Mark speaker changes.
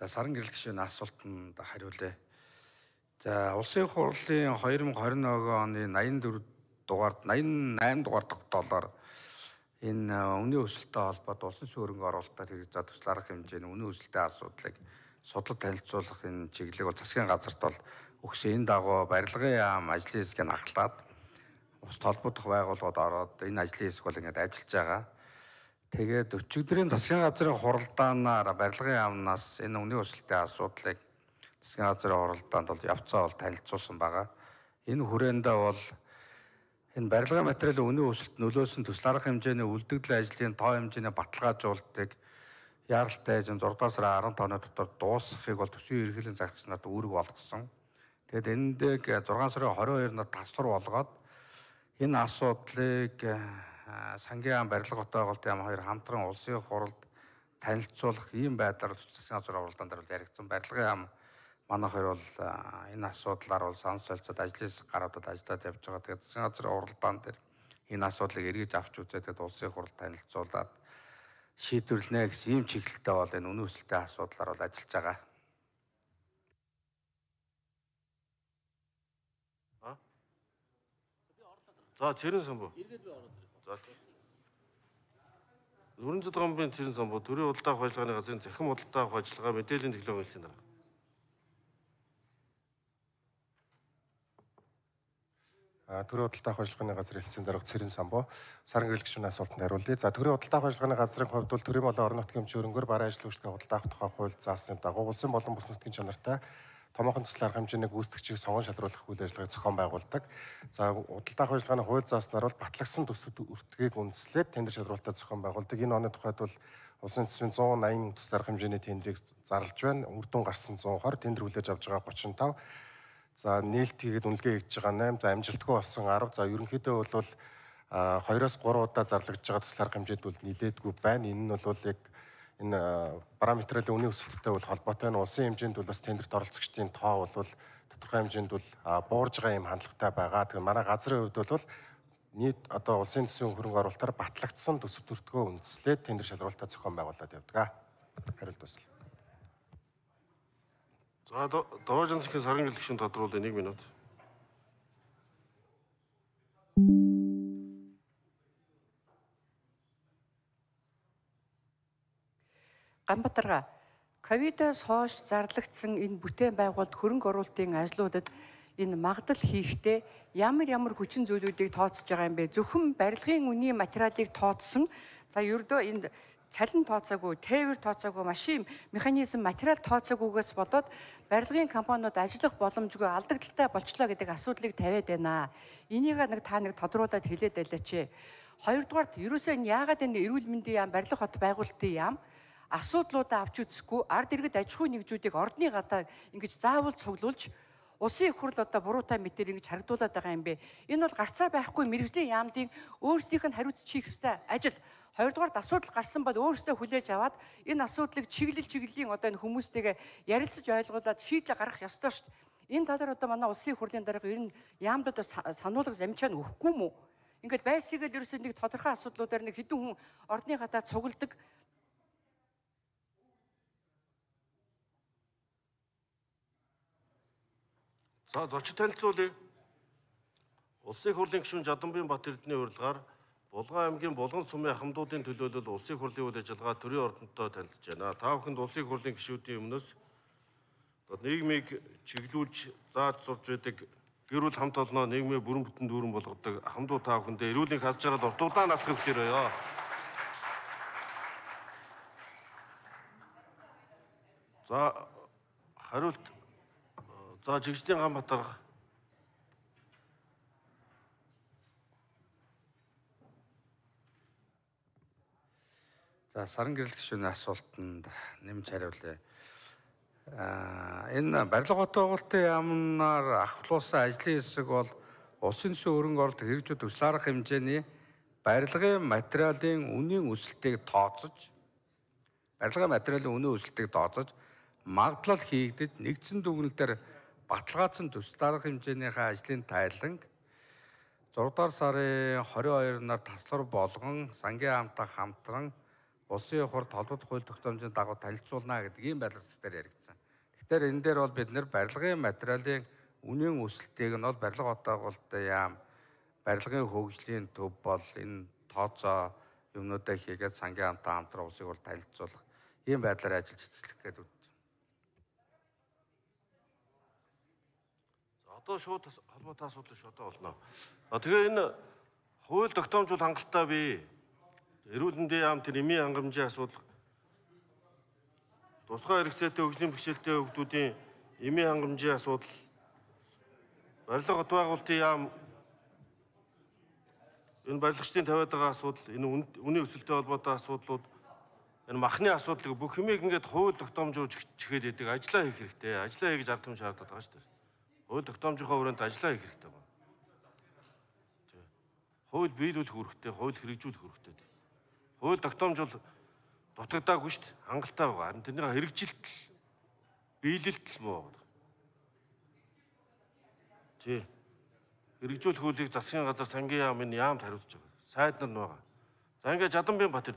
Speaker 1: За саран гэрэл гишүүний асуултанд хариулъя. За улсын хурлын 2021 оны 84 дугаард 88 дугаар тогтоолоор энэ үнийн өсөлттэй холбоотой улсын суурингийн оруулалтаар хэрэгжиж туслах арга хэмжээний үнийн өсөлтийн асуудлыг судлах танилцуулах энэ чиглэлийг бол засгийн газарт бол өгсөн. Энэ дагуу барилгын яам ажлын хэсгийг ахлаад ус толботох байгууллагууд ороод энэ ажлын хэсэг бол ингээд ажиллаж байгаа. Тэгээд өчигдрийн засгийн газрын хуралдаанаар барилгын яамнаас энэ үнийн өсөлтийн асуудлыг засгийн газрын хуралдаанд бол явцаа бол танилцуулсан байгаа. Энэ хүрээндээ бол энэ барилгын материалын үнийн өсөлт нөлөөсөн төсөл арга хэмжээний үлдэгдэл ажлын тоо хэмжээний баталгаажуулалтыг яаралтай эжен 6 сарын 15-ны дотор дуусгахыг бол төсвийн ерөнхийлөгчийн загч нарт үүрэг болгосон. Тэгээд эндээ 6 сарын 22-над тасвар болгоод энэ асуудлыг сангийн яам барилга хотоогоолт яам хоёр хамтран улсын хуралд танилцуулах ийм байдлаар засгийн газрын хуралдаан дээр бол яригдсан. Барилгын яам манайх хоёр бол энэ асуудлаар бол санал солилцоод ажлын хэсэг гаруудад ажиллаад явж байгаа. Тэгээд засгийн газрын хуралдаан дээр энэ асуудлыг эргэж авч үзээд тэгээд улсын хуралд танилцуулаад шийдвэрлэнэ гэсэн ийм чиглэлтэй бол энэ үнийн өсөлтийн асуудлаар бол ажиллаж байгаа.
Speaker 2: За цэрэн самбуу. За тийм. Нүүрэн зэдгамбын цэрэн самбуу төрийн худалдаа авах ажиллагааны газрын захин худалдаа авах ажиллагаа мэдээллийн технологийн дарга.
Speaker 3: Төрийн худалдаа авах ажиллагааны газрын хэлтсийн дарга цэрэн самбуу саран гэрэл гишүүний асуултанд хариулъя. За төрийн худалдаа авах ажиллагааны газрын хувьд бол төрийн болон орон нутгийн хэмжүүрэнгээр бараа ажил үйлчлэгээ худалдаа авах тухай хууль заасны дагуу улсын болон бус нутгийн чанартай томоохон төсөл арга хэмжээний гүйцэтгэгчийг сонгон шалруулах үйл ажиллагааг зохион байгуулдаг. За худалдаа авах ажиллагааны хууль зааснаар бол батлагдсан төсвүүд өртгийг үндэслээд тендер шалралтаа зохион байгуулдаг. Энэ оны тухайд бол улсын төсвийн 180 төсөл арга хэмжээний тендерийг зарлж байна. Үр дүн гарсан 120, тендер хүлээж авч байгаа 35. За нээлт хийгээд үнэлгээ хийж байгаа 8, за амжилтгүй болсон 10. За ерөнхийдөө бол 2-3 удаа зарлагдж байгаа төсөл арга хэмжээнд бол нилээдгүй байна. Энэ нь бол яг энэ параметрын үнийн өсөлттэй бол холбоотой нь улсын хэмжээнд бол бас тендерт оролцогчдын тоо бол тодорхой хэмжээнд бол буурж байгаа юм хандлагатай байгаа. Тэгэхээр манай газрын хувьд бол нийт одоо улсын төсвийн хөрөнгө оруулалтаар батлагдсан төсөв төртгөө үндэслээд тендер шалралтаа зохион байгуулад явдаг. Хариулт басна.
Speaker 2: За Довоожин засгийн саран гэрэл гишүүн тодруулъя 1 минут.
Speaker 4: Ганбатарга ковидоос хойш зарлагдсан энэ бүтээн байгуулалт хөрөнгө оруулалтын ажлуудад энэ магадл хийхдээ ямар хүчин зүйлүүдийг тооцож байгаа юм бэ? Зөвхөн барилгын үнийн материалыг тооцсон. За ердөө энд цалин тооцоогүй, тээвэр тооцоогүй, машин механизм материал тооцоогүйгээс болоод барилгын компаниуд ажиллах боломжгүй алдагдaltaй болчлоо гэдэг асуудлыг тавиад байна. Энийг та нэг тодруулаад хэлээд байлаач. Хоёрдугаарт ерөөсөө яагаад энэ эрүүл мэндийн яам, барилга хот байгуулалтын яам асуудлуудаа авч үзэхгүй ард иргэд аж ахуй нэгжүүдийг ордны гадаа ингэж заавал цуглуулж улсын их хурл одоо буруутай мэтээр ингэж харагдуулаад байгаа юм бэ. Энэ бол гарцаа байхгүй мэрэгжлийн яамдын өөрсдийнх нь хариуцж хийх ёстой ажил. Хоёрдугаарт асуудал гарсан бол өөрсдөө хүлээж аваад энэ асуудлыг чиглэлийн одоо энэ хүмүүстэйгээ ярилцаж ойлгуулад шийдлээ гаргах ёстой шүү дээ. Энэ талаар одоо манай улсын их хурлын дарга ер нь яамдад сануулга замчаа өгөхгүй мүү? Ингээд байсгал ерөөсөө нэг тодорхой асуудлуудаар нэг хэдэн хүн ордны гадаа цугладаг.
Speaker 2: За зочид танилцуулъя. Улсын их хурлын гишүүн Жаданбын Батэрдний урилгаар Булган аймгийн Булган сумын ахмадуудын төлөөлөл улсын их хурлын үйл ажиллагаа төрийн ордонтой танилцж байна. Та бүхэнд улсын их хурлын гишүүдийн өмнөөс нийгмийг чиглүүлж зааж сурж байдаг гэр бүл хамт олноо нийгмийн бүрэн бүтэн дүүрэн болгодог ахмадууд та бүхэндээ эрүүлийн хаз жаргал уртугдаа насрах хүсээрээ. За хариулт. За жигшдийн Ганбатарга.
Speaker 1: За саран гэрэл гишүүний асуултанд нэмж хариулъя. Энэ барилга хот байгуулалтын яамнаар ахлуулсан ажлын хэсэг бол улсын төсвийн хөрөнгө оруулалт хэрэгжүүлэх төсөл арга хэмжээний барилгын материалын үнийн өсөлтийг тооцож магадлал хийгдэж нэгдсэн дүгнэлтээр баталгаажсан төсөл арга хэмжээнийхээ ажлын тайланг 6 дугаар сарын 22 нар таслар болгон сангийн хаамтаа хамтран улсын хурд холбогдох хууль тогтоомжийн дагуу танилцуулна гэдэг ийм барилгацээр яригдсан. Тэгэхээр энэ дээр бол бид нэр барилгын материалын үнийн өсөлтийг нь бол барилга отоогуулалтын яам, барилгын хөгжлийн төв бол энэ тооцоо юмнуудаа хийгээд сангийн хаамтаа хамтран улсыг бол танилцуулах ийм байдлаар ажиллаж эцэслэх гэдэг.
Speaker 2: Одоо шууд холбоотой асуудал шууд болно. Тэгээ энэ хууль тогтоомжууд хангалттай бий. Эрүүл мэндийн яам тэр эмийн хангамжийн асуудал, тусгай хэрэгцээтэй хөгжлийн бэрхшээлтэй хүүхдүүдийн эмийн хангамжийн асуудал, барилга хот байгуулалтын яам, энэ барилгачдын тавиад байгаа асуудал, энэ үнийн өсөлттэй холбоотой асуудлууд, энэ махны асуудлыг бүх юмыг ингээд хууль тогтоомжууд чихэд идэг ажиллаа хийх хэрэгтэй. Ажиллаа хийж ард түмэн шаардаад байгаа шүү дээ. Хууль тогтоомжийнхоо хүрээнд ажиллаа хийх хэрэгтэй байна. Хууль биелүүлэх үүрэгтэй, хууль хэрэгжүүлэх үүрэгтэй. Хууль тогтоомж бол дутагдаагүй шүү дээ. Хангалттай байгаа. Харин тэрний хэрэгжилт, биелэлт л муу байна. Тий. Хэрэгжүүлэх хуулийг засгийн газар сангийн яамд хариуцж байгаа. Сайд нар нь байгаа. За ингээд Жаданбиан Бат